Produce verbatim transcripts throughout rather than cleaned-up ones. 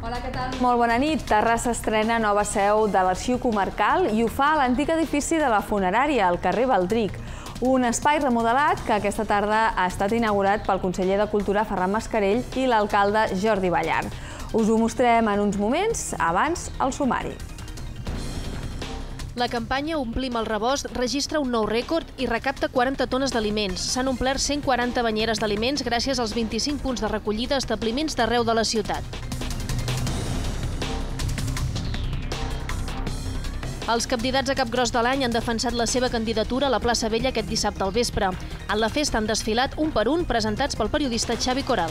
Hola, què tal? Molt bona nit. Terrassa estrena nova seu de l'Arxiu Comarcal i ho fa a l'antic edifici de la funerària, al carrer Baldric. Un espai remodelat que aquesta tarda ha estat inaugurat pel conseller de Cultura Ferran Mascarell i l'alcalde Jordi Ballart. Us ho mostrem en uns moments, abans el sumari. La campanya Omplim el rebost registra un nou rècord i recapta quaranta tones d'aliments. S'han omplert cent quaranta banyeres d'aliments gràcies als vint-i-cinc punts de recollida a establiments d'arreu de la ciutat. Els candidats a Capgròs de l'any han defensat la seva candidatura a la plaça Vella aquest dissabte al vespre. En la festa han desfilat un per un, presentats pel periodista Xavi Coral.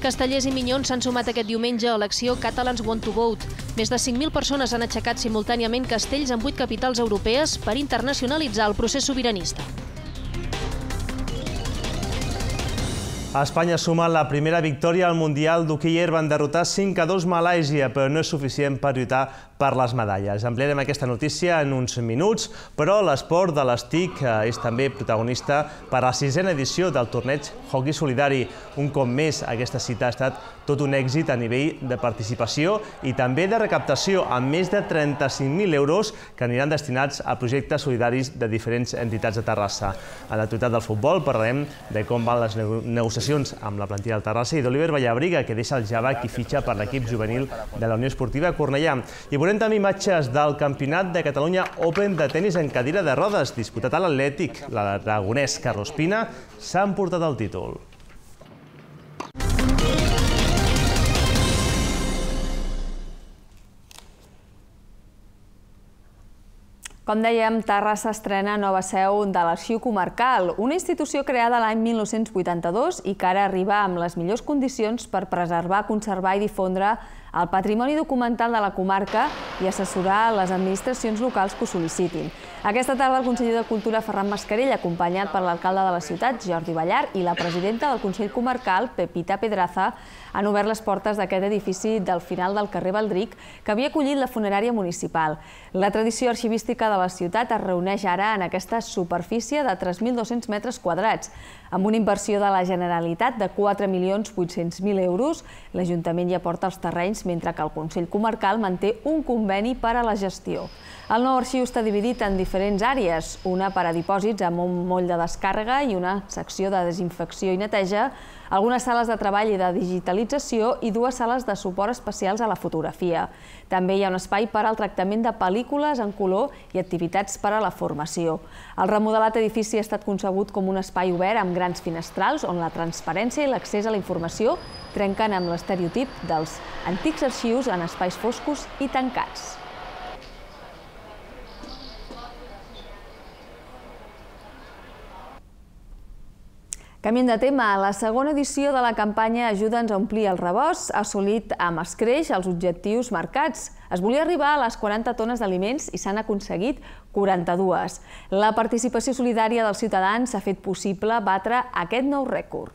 Castellers i Minyons s'han sumat aquest diumenge a l'acció Catalans Want to Vote. Més de cinc mil persones han aixecat simultàniament castells en vuit capitals europees per internacionalitzar el procés sobiranista. Espanya suma la primera victòria al Mundial d'hoquei herba en derrotar cinc a dos Malàisia, però no és suficient per lluitar per les medalles. Ampliarem aquesta notícia en uns minuts, però l'esport de les TIC és també protagonista per a la sisena edició del torneig Hockey Solidari. Un cop més, aquesta cita ha estat tot un èxit a nivell de participació i també de recaptació, amb més de trenta-cinc mil euros que aniran destinats a projectes solidaris de diferents entitats de Terrassa. A l'actualitat del futbol parlarem de com van les negociacions amb la plantilla del Terrassa i d'Oliver Vallabriga, que deixa el Javac i fitxa per l'equip juvenil de la Unió Esportiva Cornellà. I veurem també imatges del Campionat de Catalunya Open de tenis en cadira de rodes, disputat a l'Atlètic. L'aragonès Carlos Pina s'ha emportat el títol. Com dèiem, Terrassa estrena nova seu de l'Arxiu Comarcal, una institució creada l'any mil nou-cents vuitanta-dos i que ara arriba amb les millors condicions per preservar, conservar i difondre el patrimoni documental de la comarca i assessorar les administracions locals que ho sol·licitin. Aquesta tarda el conseller de Cultura Ferran Mascarell, acompanyat per l'alcalde de la ciutat, Jordi Ballart, i la presidenta del Consell Comarcal, Pepita Pedraza, han obert les portes d'aquest edifici del final del carrer Baldric que havia acollit la funerària municipal. La tradició arxivística de la ciutat es reuneix ara en aquesta superfície de tres mil dos-cents metres quadrats. Amb una inversió de la Generalitat de quatre milions vuit-cents mil euros, l'Ajuntament hi aporta els terrenys, mentre que el Consell Comarcal manté un conveni per a la gestió. El nou arxiu està dividit en diferents àrees, una per a dipòsits amb un moll de descàrrega i una secció de desinfecció i neteja, algunes sales de treball i de digitalització i dues sales de suport especials a la fotografia. També hi ha un espai per al tractament de pel·lícules en color i activitats per a la formació. El remodelat edifici ha estat concebut com un espai obert amb grans finestrals on la transparència i l'accés a la informació trenquen amb l'estereotip dels antics arxius en espais foscos i tancats. Canviem de tema. La segona edició de la campanya Ajuda'ns a omplir el rebost ha assolit amb escreix els objectius marcats. Es volia arribar a les quaranta tones d'aliments i s'han aconseguit quaranta-dues. La participació solidària dels ciutadans ha fet possible batre aquest nou rècord.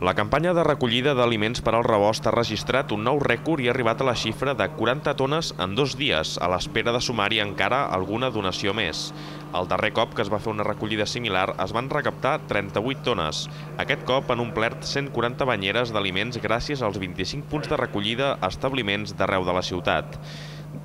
La campanya de recollida d'aliments per al rebost ha registrat un nou rècord i ha arribat a la xifra de quaranta tones en dos dies, a l'espera de sumar-hi encara alguna donació més. El darrer cop que es va fer una recollida similar es van recaptar trenta-vuit tones. Aquest cop han omplert cent quaranta banyeres d'aliments gràcies als vint-i-cinc punts de recollida a establiments d'arreu de la ciutat.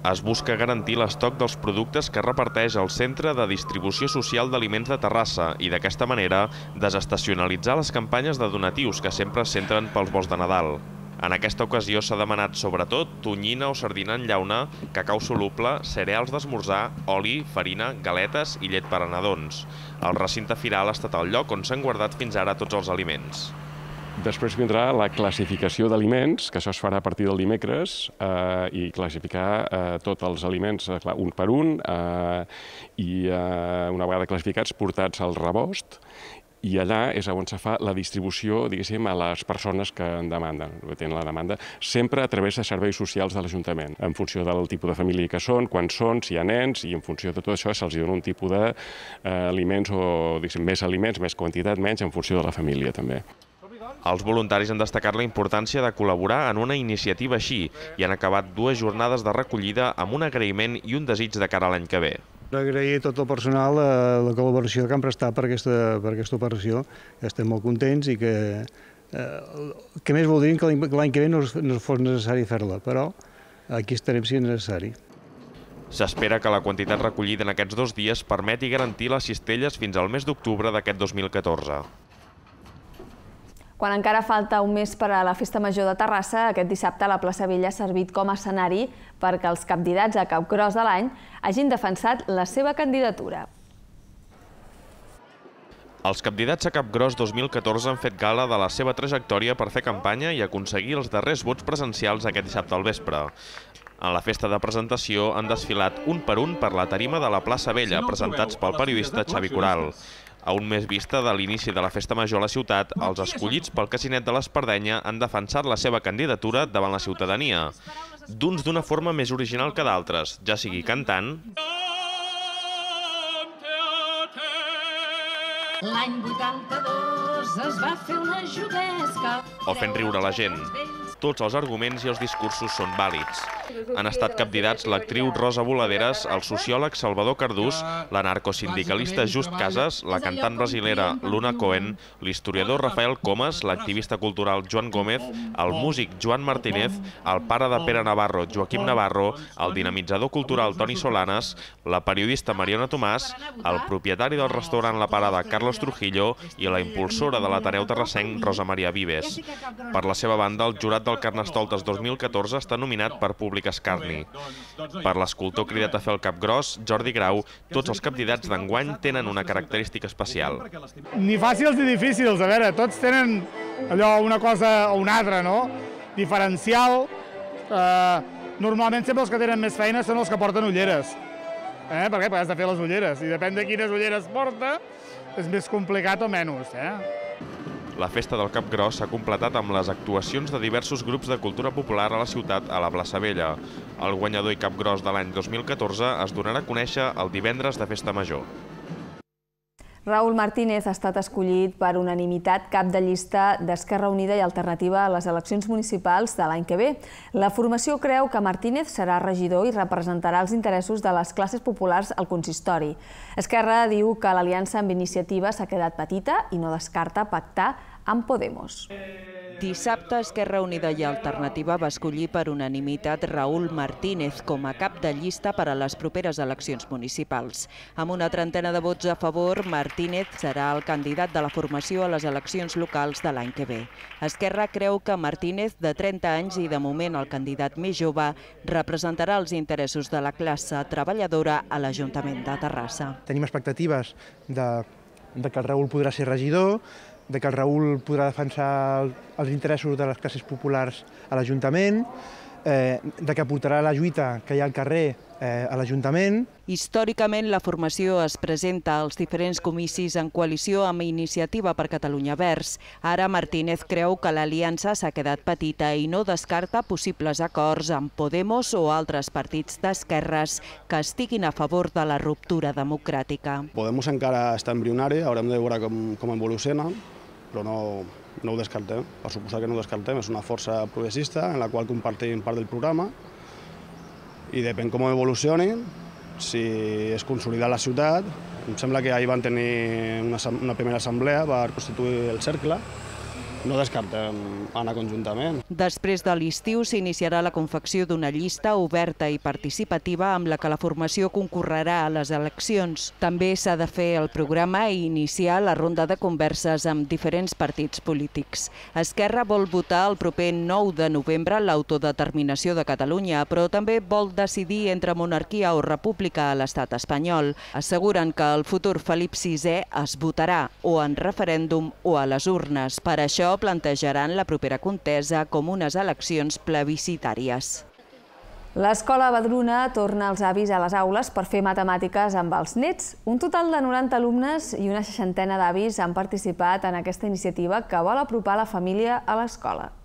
Es busca garantir l'estoc dels productes que reparteix el Centre de Distribució Social d'Aliments de Terrassa i d'aquesta manera desestacionalitzar les campanyes de donatius que sempre es centren pels vols de Nadal. En aquesta ocasió s'ha demanat sobretot tonyina o sardina en llauna, cacau soluble, cereals d'esmorzar, oli, farina, galetes i llet per a nadons. El recinte firal ha estat el lloc on s'han guardat fins ara tots els aliments. Després vindrà la classificació d'aliments, que això es farà a partir del dimecres, eh, i classificar eh, tots els aliments eh, un per un, eh, i eh, una vegada classificats portats al rebost, i allà és on se fa la distribució, diguéssim, a les persones que en demanden, que tenen la demanda, sempre a través de serveis socials de l'Ajuntament, en funció del tipus de família que són, quan són, si hi ha nens, i en funció de tot això se'ls dona un tipus d'aliments o, diguéssim, més aliments, més quantitat, menys, en funció de la família també. Els voluntaris han destacat la importància de col·laborar en una iniciativa així i han acabat dues jornades de recollida amb un agraïment i un desig de cara a l'any que ve. Agrair a tot el personal la col·laboració que han prestat per aquesta operació. Estem molt contents i que que més voldríem que l'any que ve no fos necessari fer-la, però aquí estarem si és necessari. S'espera que la quantitat recollida en aquests dos dies permeti garantir les cistelles fins al mes d'octubre d'aquest dos mil catorze. Quan encara falta un mes per a la Festa Major de Terrassa, aquest dissabte la plaça Vella ha servit com a escenari perquè els candidats a Capgròs de l'any hagin defensat la seva candidatura. Els candidats a Capgròs dos mil catorze han fet gala de la seva trajectòria per fer campanya i aconseguir els darrers vots presencials aquest dissabte al vespre. En la festa de presentació han desfilat un per un per la tarima de la plaça Vella, presentats pel periodista Xavi Coral. A un mes vista de l'inici de la Festa Major a la ciutat, els escollits pel Casinet de l'Espardenya han defensat la seva candidatura davant la ciutadania, d'uns d'una forma més original que d'altres, ja sigui cantant... L'any vuitanta-dos es va fer una juguesca... o fent riure la gent. Tots els arguments i els discursos són vàlids. Han estat capdidats l'actriu Rosa Voladeres, el sociòleg Salvador Cardús, l'anarcosindicalista Just Casas, la cantant brasilera Luna Cohen, l'historiador Rafael Comas, l'activista cultural Joan Gómez, el músic Joan Martínez, el pare de Pere Navarro, Joaquim Navarro, el dinamitzador cultural Toni Solanas, la periodista Mariona Tomàs, el propietari del restaurant La Parada Carlos Trujillo i la impulsora de l'Ateneu Terrassenc Rosa Maria Vives. Per la seva banda, el jurat del Carnestoltes dos mil catorze està nominat per Públic Escarni. Per l'escultor cridat a fer el Capgròs, Jordi Grau, tots els candidats d'enguany tenen una característica especial. Ni fàcils ni difícils, a veure, tots tenen allò una cosa o una altra, no? Diferencial. Normalment sempre els que tenen més feina són els que porten ulleres. Per què? Perquè has de fer les ulleres, i depèn de quines ulleres porta, és més complicat o menys, eh? La festa del Capgròs s'ha completat amb les actuacions de diversos grups de cultura popular a la ciutat a la plaça Vella. El guanyador i Capgròs de l'any dos mil catorze es donarà a conèixer el divendres de Festa Major. Raúl Martínez ha estat escollit per unanimitat cap de llista d'Esquerra Unida i Alternativa a les eleccions municipals de l'any que ve. La formació creu que Martínez serà regidor i representarà els interessos de les classes populars al consistori. Esquerra diu que l'aliança amb Iniciativa s'ha quedat petita i no descarta pactar amb Podemos. Dissabte, Esquerra Unida i Alternativa va escollir per unanimitat Raúl Martínez com a cap de llista per a les properes eleccions municipals. Amb una trentena de vots a favor, Martínez serà el candidat de la formació a les eleccions locals de l'any que ve. Esquerra creu que Martínez, de trenta anys i de moment el candidat més jove, representarà els interessos de la classe treballadora a l'Ajuntament de Terrassa. Tenim expectatives de, de que el Raúl podrà ser regidor, de que el Raúl podrà defensar els interessos de les classes populars a l'Ajuntament, eh, de que portarà la lluita que hi ha al carrer eh, a l'Ajuntament. Històricament, la formació es presenta als diferents comicis en coalició amb Iniciativa per Catalunya Verds. Ara Martínez creu que l'aliança s'ha quedat petita i no descarta possibles acords amb Podemos o altres partits d'esquerres que estiguin a favor de la ruptura democràtica. Podemos encara està embrionari, haurem de veure com, com evoluciona, però no, no ho descartem. Per suposar que no ho descartem, és una força progressista en la qual compartim part del programa i depèn com evolucioni, si es consolida la ciutat. Em sembla que ahir van tenir una, una primera assemblea per constituir el cercle. No descartem anar conjuntament. Després de l'estiu s'iniciarà la confecció d'una llista oberta i participativa amb la que la formació concorrerà a les eleccions. També s'ha de fer el programa i iniciar la ronda de converses amb diferents partits polítics. Esquerra vol votar el proper nou de novembre l'autodeterminació de Catalunya, però també vol decidir entre monarquia o república a l'estat espanyol. Asseguren que el futur Felip sisè es votarà o en referèndum o a les urnes. Per això plantejaran la propera contesa com unes eleccions plebiscitàries. L'Escola Badruna torna els avis a les aules per fer matemàtiques amb els nets. Un total de noranta alumnes i una seixantena d'avis han participat en aquesta iniciativa que vol apropar la família a l'escola.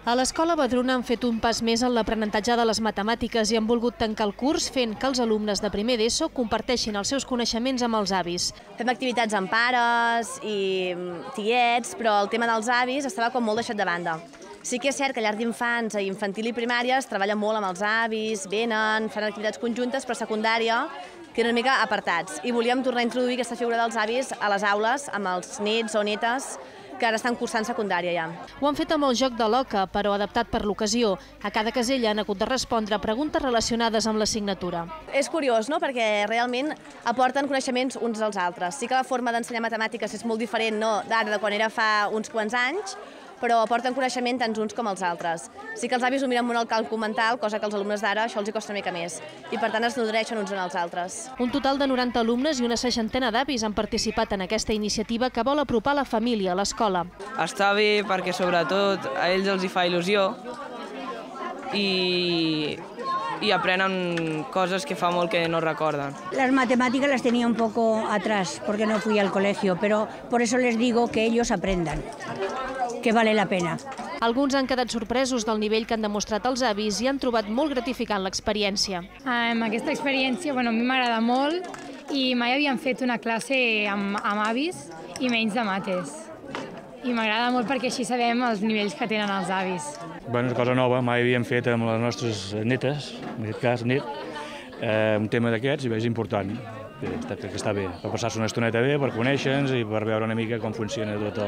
A l'Escola Badruna han fet un pas més en l'aprenentatge de les matemàtiques i han volgut tancar el curs fent que els alumnes de primer d'ESO comparteixin els seus coneixements amb els avis. Fem activitats amb pares i tiets, però el tema dels avis estava com molt deixat de banda. Sí que és cert que a llar d'infants, infantil i primària es treballa molt amb els avis, venen, fan activitats conjuntes, però a secundària queden una mica apartats. I volíem tornar a introduir aquesta figura dels avis a les aules amb els nets o netes que ara estan cursant secundària ja. Ho han fet amb el joc de l'oca, però adaptat per l'ocasió. A cada casella han hagut de respondre preguntes relacionades amb l'assignatura. És curiós, no?, perquè realment aporten coneixements uns als altres. Sí que la forma d'ensenyar matemàtiques és molt diferent, no?, d'ara, de quan era fa uns quants anys, però aporten coneixement tant uns com els altres. Sí que els avis ho miren molt al càlcul mental, cosa que als alumnes d'ara això els costa una mica més, i per tant es nodreixen uns en els altres. Un total de noranta alumnes i una seixantena d'avis han participat en aquesta iniciativa que vol apropar la família a l'escola. Està bé perquè sobretot a ells els hi fa il·lusió i, y aprenden cosas que fa molt que no recorden. Las matemáticas las tenía un poco atrás porque no fui al colegio, pero por eso les digo que ellos aprendan, que vale la pena. Alguns han quedat sorpresos del nivell que han demostrat els avis i han trobat molt gratificant l'experiència. Um, aquesta experiència bueno, a mi m'agrada molt i mai havíem fet una classe amb, amb avis i menys de mates. I m'agrada molt perquè així sabem els nivells que tenen els avis. Bueno, és una cosa nova, mai havíem fet amb les nostres netes, en aquest cas net, eh, un tema d'aquests i és important. Crec que està bé, per passar-se una estoneta bé, per conèixer-nos i per veure una mica com funciona tot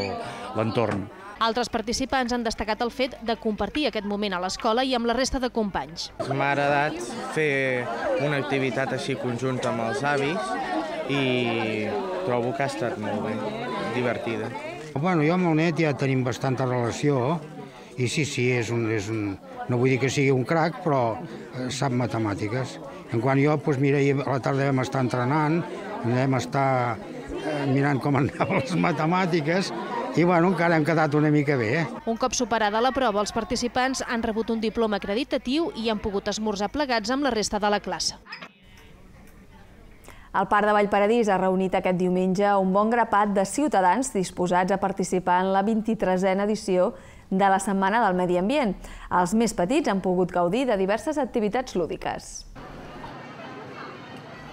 l'entorn. Altres participants han destacat el fet de compartir aquest moment a l'escola i amb la resta de companys. M'ha agradat fer una activitat així conjunta amb els avis i trobo que ha estat molt bé, divertida. Bueno, jo amb el net ja tenim bastanta relació i sí, sí, és un, és un, no vull dir que sigui un crac, però sap matemàtiques. En quant jo, doncs mira, a la tarda vam estar entrenant, vam estar mirant com anaven les matemàtiques i bueno, encara hem quedat una mica bé. Eh? Un cop superada la prova, els participants han rebut un diploma acreditatiu i han pogut esmorzar plegats amb la resta de la classe. El Parc de Vallparadís ha reunit aquest diumenge un bon grapat de ciutadans disposats a participar en la vint-i-tresena edició de la Setmana del Medi Ambient. Els més petits han pogut gaudir de diverses activitats lúdiques.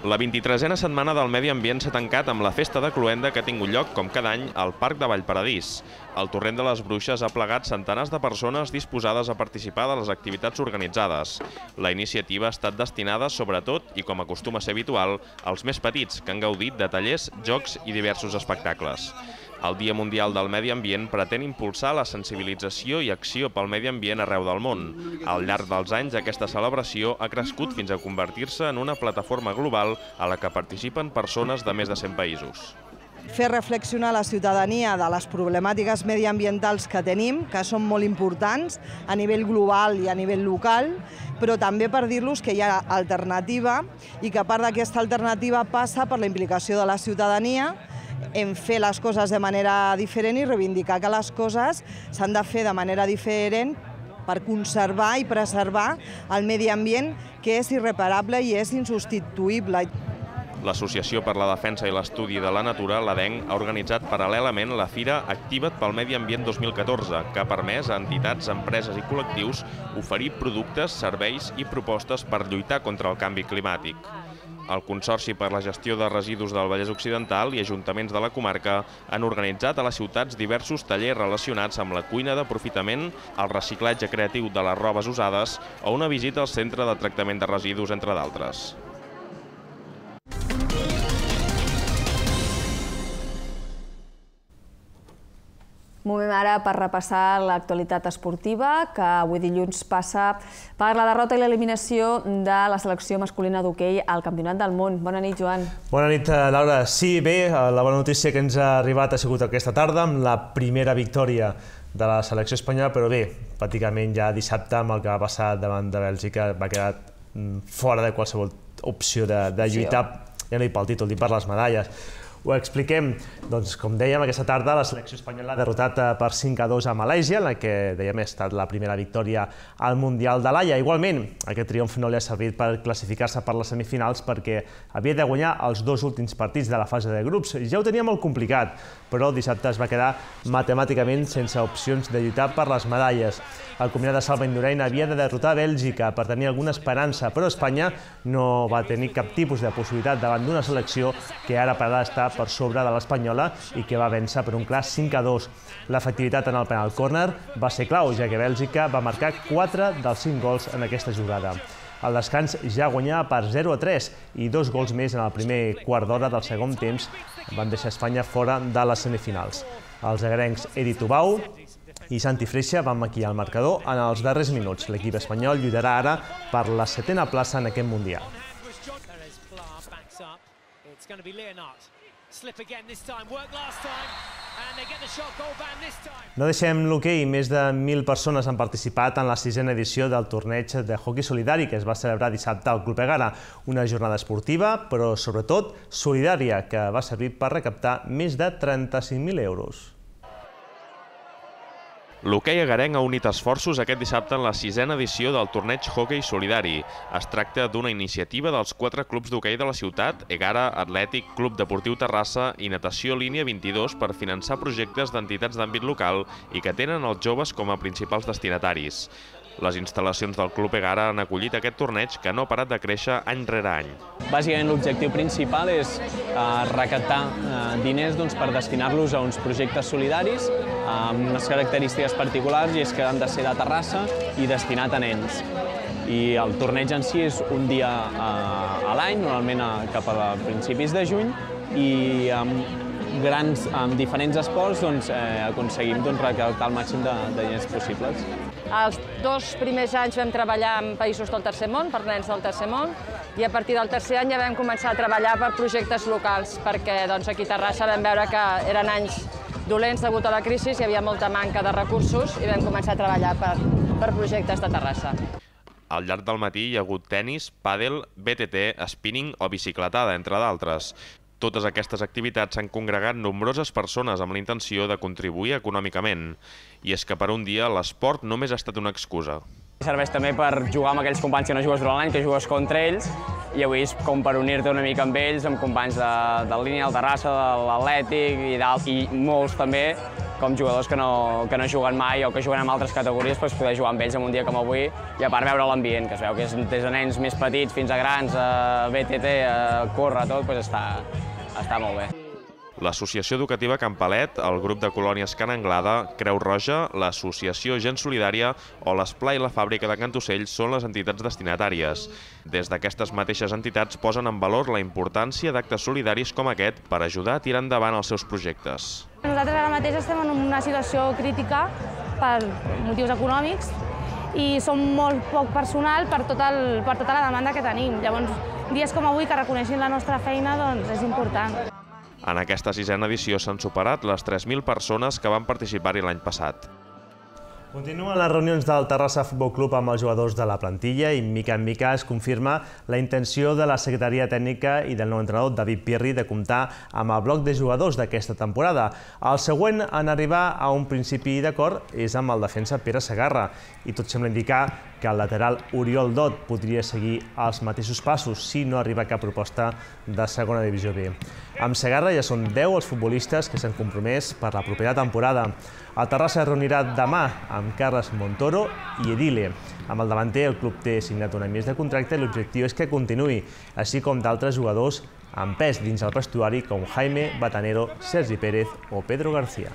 La vint-i-tresena Setmana del Medi Ambient s'ha tancat amb la festa de cloenda que ha tingut lloc, com cada any, al Parc de Vallparadís. El Torrent de les Bruixes ha plegat centenars de persones disposades a participar de les activitats organitzades. La iniciativa ha estat destinada, sobretot, i com acostuma a ser habitual, als més petits, que han gaudit de tallers, jocs i diversos espectacles. El Dia Mundial del Medi Ambient pretén impulsar la sensibilització i acció pel medi ambient arreu del món. Al llarg dels anys, aquesta celebració ha crescut fins a convertir-se en una plataforma global a la que participen persones de més de cent països. Fer reflexionar la ciutadania de les problemàtiques mediambientals que tenim, que són molt importants a nivell global i a nivell local, però també per dir-los que hi ha alternativa i que a part d'aquesta alternativa passa per la implicació de la ciutadania en fer les coses de manera diferent i reivindicar que les coses s'han de fer de manera diferent per conservar i preservar el medi ambient, que és irreparable i és insubstituïble. L'Associació per la Defensa i l'Estudi de la Natura, l'A D E N, ha organitzat paral·lelament la Fira Activa't pel Medi Ambient dos mil catorze, que ha permès a entitats, empreses i col·lectius oferir productes, serveis i propostes per lluitar contra el canvi climàtic. El Consorci per la Gestió de Residus del Vallès Occidental i ajuntaments de la comarca han organitzat a les ciutats diversos tallers relacionats amb la cuina d'aprofitament, el reciclatge creatiu de les robes usades o una visita al centre de tractament de residus, entre d'altres. Movem ara per repassar l'actualitat esportiva, que avui dilluns passa per la derrota i l'eliminació de la selecció masculina d'hoquei al Campionat del Món. Bona nit, Joan. Bona nit, Laura. Sí, bé, la bona notícia que ens ha arribat ha sigut aquesta tarda, amb la primera victòria de la selecció espanyola, però bé, pràcticament ja dissabte, amb el que va passar davant de Bèlgica, va quedar fora de qualsevol opció de, de lluitar, ja no dic pel títol, dic per les medalles. Ho expliquem. Doncs, com dèiem, aquesta tarda la selecció espanyola ha derrotat per cinc a dos a Malàisia, en la que, dèiem, ha estat la primera victòria al Mundial de l'Haia. Igualment, aquest triomf no li ha servit per classificar-se per les semifinals perquè havia de guanyar els dos últims partits de la fase de grups. Ja ho tenia molt complicat, però dissabte es va quedar matemàticament sense opcions de lluitar per les medalles. El combinat de Salva Indurain havia de derrotar Bèlgica per tenir alguna esperança, però Espanya no va tenir cap tipus de possibilitat davant d'una selecció que ara per ara està per sobre de l'Espanyola i que va vèncer per un clar cinc a dos. L'efectivitat en el penal córner va ser clau, ja que Bèlgica va marcar quatre dels cinc gols en aquesta jugada. Al descans ja guanyava per zero a tres i dos gols més en el primer quart d'hora del segon temps van deixar Espanya fora de les semifinals. Els agrencs Edi Tubau i Santi Freixa van maquillar el marcador en els darrers minuts. L'equip espanyol lluitarà ara per la setena plaça en aquest Mundial. No deixem l'hoquei. Més de mil persones han participat en la sisena edició del torneig de hoquei solidari que es va celebrar dissabte al Club Egara. Una jornada esportiva, però sobretot solidària, que va servir per recaptar més de trenta-cinc mil euros. L'hoquei egarenc ha unit esforços aquest dissabte en la sisena edició del torneig hoquei solidari. Es tracta d'una iniciativa dels quatre clubs d'hoquei de la ciutat, Egara, Atlètic, Club Deportiu Terrassa i Natació Línia vint-i-dos, per finançar projectes d'entitats d'àmbit local i que tenen els joves com a principals destinataris. Les instal·lacions del Club Egara han acollit aquest torneig que no ha parat de créixer any rere any. Bàsicament l'objectiu principal és recaptar diners per destinar-los a uns projectes solidaris amb unes característiques particulars, i és que han de ser de Terrassa i destinat a nens. I el torneig en si és un dia a l'any, normalment cap a principis de juny, i amb grans, amb diferents esports aconseguim recaptar el màxim de diners possibles. Els dos primers anys vam treballar en països del tercer món, per nens del tercer món, i a partir del tercer any ja vam començar a treballar per projectes locals, perquè aquí a Terrassa vam veure que eren anys dolents degut a la crisi, hi havia molta manca de recursos i vam començar a treballar per projectes de Terrassa. Al llarg del matí hi ha hagut tennis, pàdel, B T T, spinning o bicicletada, entre d'altres. Totes aquestes activitats s'han congregat nombroses persones amb la intenció de contribuir econòmicament. I és que per un dia l'esport només ha estat una excusa. Serveix també per jugar amb aquells companys que no jugues durant l'any, que jugues contra ells, i avui és com per unir-te una mica amb ells, amb companys de línia, del Terrassa, de l'Atlètic i molts també, com jugadors que no juguen mai o que juguen en altres categories, poder jugar amb ells en un dia com avui i a part veure l'ambient, que es veu que és des de nens més petits fins a grans, a B T T, a córrer, tot, està molt bé. L'Associació Educativa Campalet, el grup de colònies Can Anglada, Creu Roja, l'Associació Gent Solidària o l'Esplà i la Fàbrica de Cantocell són les entitats destinatàries. Des d'aquestes mateixes entitats posen en valor la importància d'actes solidaris com aquest per ajudar a tirar endavant els seus projectes. Nosaltres ara mateix estem en una situació crítica per motius econòmics i som molt poc personal per tota la demanda que tenim. Llavors, dies com avui que reconeixin la nostra feina és important. En aquesta sisena edició s'han superat les tres mil persones que van participar-hi l'any passat. Continuen les reunions del Terrassa Futbol Club amb els jugadors de la plantilla i mica en mica es confirma la intenció de la secretaria tècnica i del nou entrenador David Pirri de comptar amb el bloc de jugadors d'aquesta temporada. El següent en arribar a un principi d'acord és amb el defensa Pere Segarra i tot sembla indicar que el lateral Oriol Dot podria seguir els mateixos passos si no arriba cap proposta de segona divisió B. Amb Segarra ja són deu els futbolistes que s'han compromès per la propera temporada. El Terrassa es reunirà demà amb Carles Montoro i Edile. Amb el davanter, el club té signat un any més de contracte i l'objectiu és que continuï, així com d'altres jugadors amb pes dins el vestuari com Jaime Batanero, Sergi Pérez o Pedro García.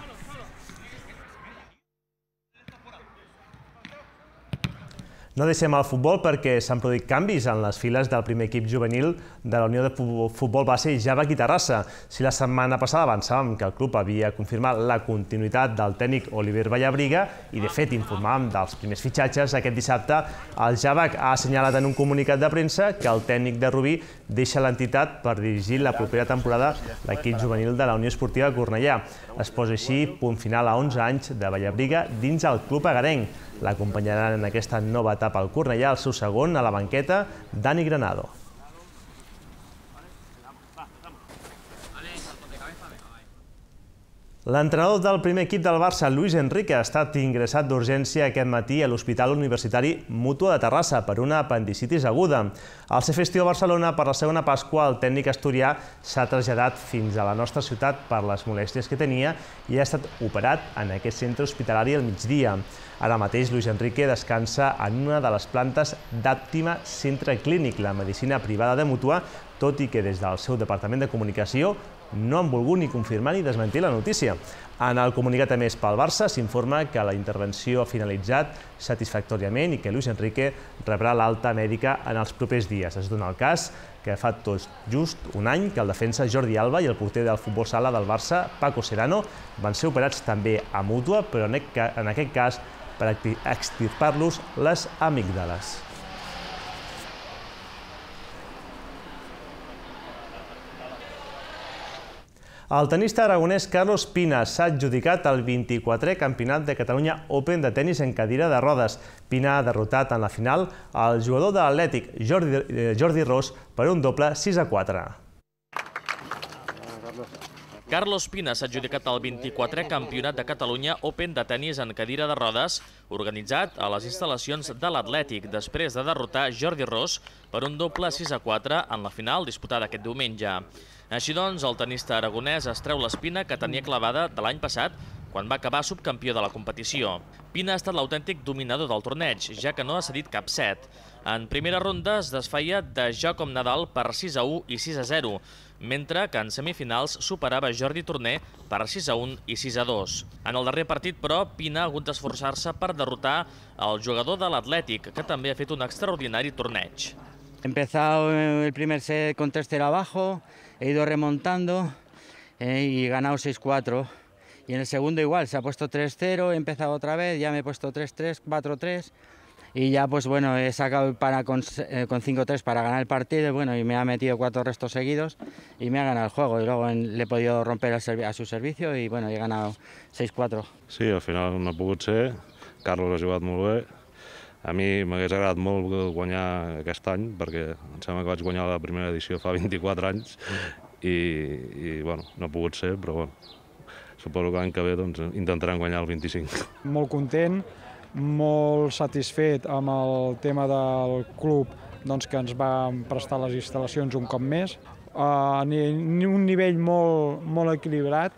No deixem el futbol perquè s'han produït canvis en les files del primer equip juvenil de la Unió de Futbol Base Java aquí a Terrassa. Si la setmana passada avançàvem que el club havia confirmat la continuïtat del tècnic Oliver Vallabriga i, de fet, informàvem dels primers fitxatges, aquest dissabte el Javac ha assenyalat en un comunicat de premsa que el tècnic de Rubí deixa l'entitat per dirigir la propera temporada l'equip juvenil de la Unió Esportiva Cornellà. Es posa així punt final a onze anys de Vallabriga dins el club agarenc. L'acompanyaran en aquesta nova etapa al Cornellà, el seu segon a la banqueta, Dani Granado. L'entrenador del primer equip del Barça, Luis Enrique, ha estat ingressat d'urgència aquest matí a l'Hospital Universitari Mútua de Terrassa per una apendicitis aguda. Al ser festiu a Barcelona per la segona Pasqua, el tècnic asturià s'ha traslladat fins a la nostra ciutat per les molèsties que tenia i ha estat operat en aquest centre hospitalari al migdia. Ara mateix, Luis Enrique descansa en una de les plantes d'Àptima Centre Clínic, la medicina privada de Mútua, tot i que des del seu departament de comunicació no han volgut ni confirmar ni desmentir la notícia. En el comunicat emès pel Barça s'informa que la intervenció ha finalitzat satisfactòriament i que Luis Enrique rebrà l'alta mèdica en els propers dies. Es dona el cas que fa tot just un any que el defensa Jordi Alba i el porter del futbol sala del Barça, Paco Serrano, van ser operats també a mútua, però en aquest cas per extirpar-los les amígdales. El tenista aragonès Carlos Pina s'ha adjudicat el vint-i-quatrè Campionat de Catalunya Open de tenis en cadira de rodes. Pina ha derrotat en la final el jugador de l'Atlètic Jordi Ros per un doble sis a quatre. Carlos Pina s'ha adjudicat el vint-i-quatrè Campionat de Catalunya Open de tenis en cadira de rodes, organitzat a les instal·lacions de l'Atlètic, després de derrotar Jordi Ros per un doble sis a quatre en la final disputada aquest diumenge. Així doncs, el tenista aragonès es treu l'espina que tenia clavada de l'any passat, quan va acabar subcampió de la competició. Pina ha estat l'autèntic dominador del torneig, ja que no ha cedit cap set. En primera ronda es desfeia de Joaquim Nadal per sis a u i sis a zero, mentre que en semifinals superava Jordi Torner per sis a un i sis a dos. En el darrer partit, però, Pina ha hagut d'esforçar-se per derrotar el jugador de l'Atlètic, que també ha fet un extraordinari torneig. He empezado el primer set con tres cero abajo, he ido remontando eh, y he ganado seis cuatro. Y en el segundo igual, se ha puesto tres cero, he empezado otra vez, ya me he puesto tres tres, cuatro tres. Y ya pues bueno, he sacado para con, eh, con cinco tres para ganar el partido, bueno, y me ha metido cuatro restos seguidos y me ha ganado el juego. Y luego en, le he podido romper a su servicio y bueno, he ganado seis cuatro. Sí, al final no ha pogut ser. Carlos ha jugat molt bé. A mi m'hagués agradat molt guanyar aquest any, perquè em sembla que vaig guanyar la primera edició fa vint-i-quatre anys i, i bueno, no ha pogut ser, però bueno, suposo que l'any que ve doncs, intentaran guanyar el vint-i-cinc. Molt content, molt satisfet amb el tema del club doncs, que ens va prestar les instal·lacions un cop més, a un nivell molt, molt equilibrat.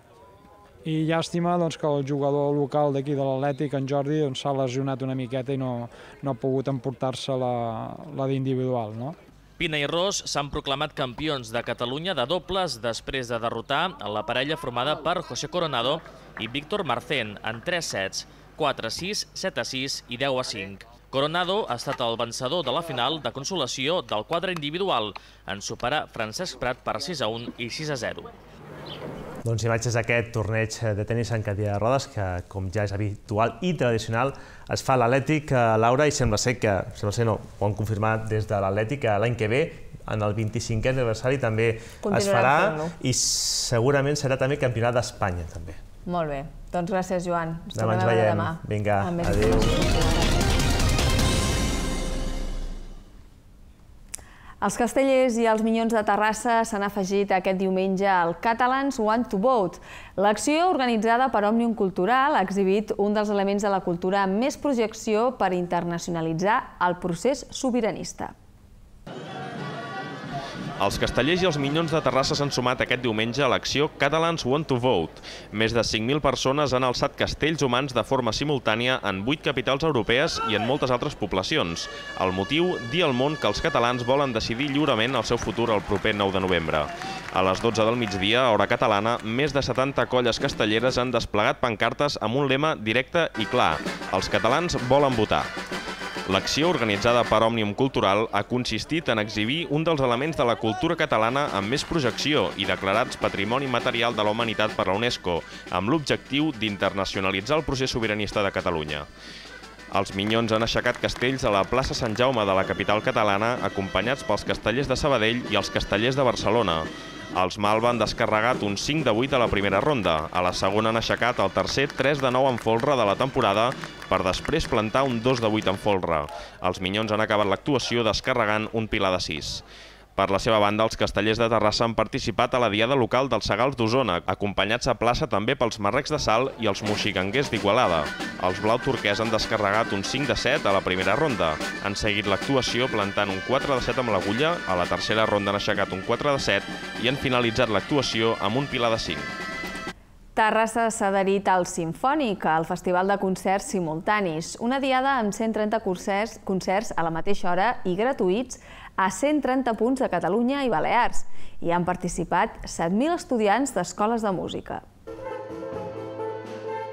I llàstima doncs, que el jugador local d'aquí de l'Atlètic, en Jordi, s'ha doncs, lesionat una miqueta i no, no ha pogut emportar-se la, la d'individual. No? Pina i Ros s'han proclamat campions de Catalunya de dobles després de derrotar la parella formada per José Coronado i Víctor Marcén en tres sets, quatre a sis, set a sis i deu a cinc. Coronado ha estat el vencedor de la final de consolació del quadre individual en superar Francesc Prat per sis a un i sis a zero. Doncs imatges d'aquest torneig de tenis en cadira de rodes, que com ja és habitual i tradicional, es fa a l'Atlètic, Laura, i sembla ser que, sembla ser no, ho han confirmat des de l'Atlètic, l'any que ve, en el vint-i-cinquè aniversari també es farà i segurament serà també campionat d'Espanya, també. Molt bé. Doncs gràcies, Joan. Demà ens veiem. Vinga, adéu. Els castellers i els Minyons de Terrassa s'han afegit aquest diumenge al Catalans Want to Vote. L'acció, organitzada per Òmnium Cultural, ha exhibit un dels elements de la cultura amb més projecció per internacionalitzar el procés sobiranista. Els castellers i els Minyons de Terrassa s'han sumat aquest diumenge a l'acció Catalans Want to Vote. Més de cinc mil persones han alçat castells humans de forma simultània en vuit capitals europees i en moltes altres poblacions. El motiu, dir al món que els catalans volen decidir lliurement el seu futur el proper nou de novembre. A les dotze del migdia, hora catalana, més de setanta colles castelleres han desplegat pancartes amb un lema directe i clar: els catalans volen votar. L'acció, organitzada per Òmnium Cultural, ha consistit en exhibir un dels elements de la cultura catalana amb més projecció i declarats Patrimoni Material de la Humanitat per la UNESCO, amb l'objectiu d'internacionalitzar el procés sobiranista de Catalunya. Els Minyons han aixecat castells a la plaça Sant Jaume de la capital catalana, acompanyats pels castellers de Sabadell i els castellers de Barcelona. Els Malva han descarregat un cinc de vuit a la primera ronda. A la segona han aixecat el tercer tres de nou en folre de la temporada per després plantar un dos de vuit en folre. Els Minyons han acabat l'actuació descarregant un pilar de sis. Per la seva banda, els castellers de Terrassa han participat a la diada local dels Segals d'Osona, acompanyats a plaça també pels Marrecs de Salt i els Moxiganguers d'Igualada. Els blau turquès han descarregat un cinc de set a la primera ronda. Han seguit l'actuació plantant un quatre de set amb l'agulla, a la tercera ronda han aixecat un quatre de set i han finalitzat l'actuació amb un pilar de cinc. Terrassa s'ha adherit al Simfònic, al Festival de Concerts Simultanis, una diada amb cent trenta concerts a la mateixa hora i gratuïts a cent trenta punts de Catalunya i Balears. Hi han participat set mil estudiants d'escoles de música.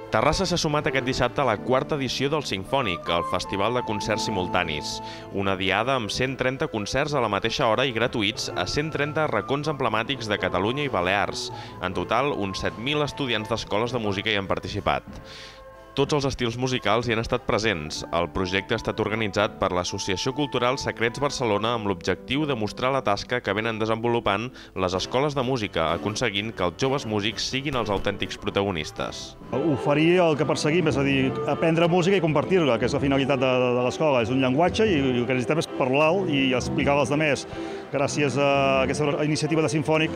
Terrassa s'ha sumat aquest dissabte a la quarta edició del Simfònic, el Festival de Concerts Simultanis. Una diada amb cent trenta concerts a la mateixa hora i gratuïts a cent trenta racons emblemàtics de Catalunya i Balears. En total, uns set mil estudiants d'escoles de música hi han participat. Tots els estils musicals hi han estat presents. El projecte ha estat organitzat per l'Associació Cultural Secrets Barcelona amb l'objectiu de mostrar la tasca que venen desenvolupant les escoles de música, aconseguint que els joves músics siguin els autèntics protagonistes. Oferir el que perseguim, és a dir, aprendre música i compartir-la, que és la finalitat de, de l'escola. És un llenguatge i el que necessitem és parlar-lo i explicar als altres. Gràcies a aquesta iniciativa de Simfònic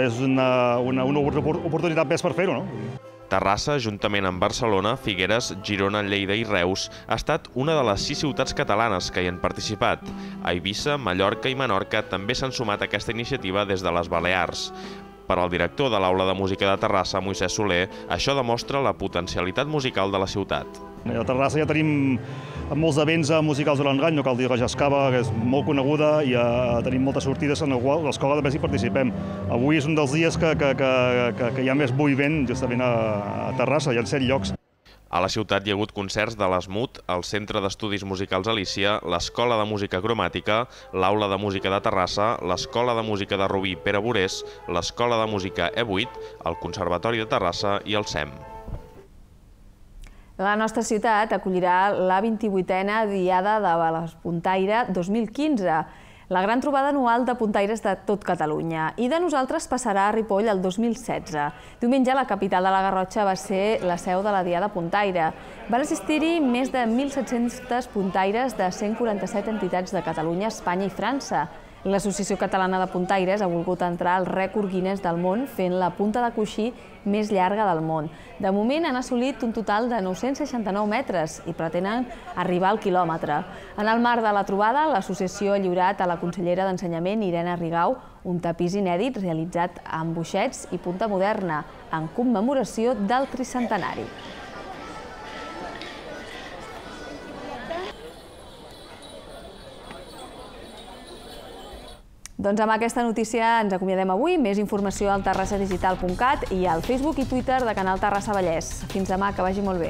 és una, una, una oportunitat més per fer-ho, no? Terrassa, juntament amb Barcelona, Figueres, Girona, Lleida i Reus, ha estat una de les sis ciutats catalanes que hi han participat. A Eivissa, Mallorca i Menorca també s'han sumat a aquesta iniciativa des de les Balears. Per al director de l'Aula de Música de Terrassa, Moisès Soler, això demostra la potencialitat musical de la ciutat. A Terrassa ja tenim molts events musicals durant l'any, no cal dir que Jascava, que és molt coneguda, i tenim moltes sortides en les quals l'escola també hi participem. Avui és un dels dies que, que, que, que hi ha més moviment justament a Terrassa, hi ha set llocs. A la ciutat hi ha hagut concerts de l'Esmut, el Centre d'Estudis Musicals Alícia, l'Escola de Música Cromàtica, l'Aula de Música de Terrassa, l'Escola de Música de Rubí Pere Borés, l'Escola de Música E vuit, el Conservatori de Terrassa i el S E M. La nostra ciutat acollirà la vint-i-vuitena Diada de l'Puntaire dos mil quinze, la gran trobada anual de puntaires de tot Catalunya. I de nosaltres passarà a Ripoll el dos mil setze. Diumenge, la capital de la Garrotxa va ser la seu de la Diada Puntaire. Van assistir-hi més de mil set-cents puntaires de cent quaranta-set entitats de Catalunya, Espanya i França. L'Associació Catalana de Puntaires ha volgut entrar al rècord Guinness del món fent la punta de coixí més llarga del món. De moment han assolit un total de nou-cents seixanta-nou metres i pretenen arribar al quilòmetre. En el marc de la trobada, l'associació ha lliurat a la consellera d'Ensenyament, Irene Rigau, un tapís inèdit realitzat amb boixets i punta moderna, en commemoració del tricentenari. Doncs amb aquesta notícia ens acomiadem avui. Més informació al terrassa digital punt cat i al Facebook i Twitter de Canal Terrassa Vallès. Fins demà, que vagi molt bé.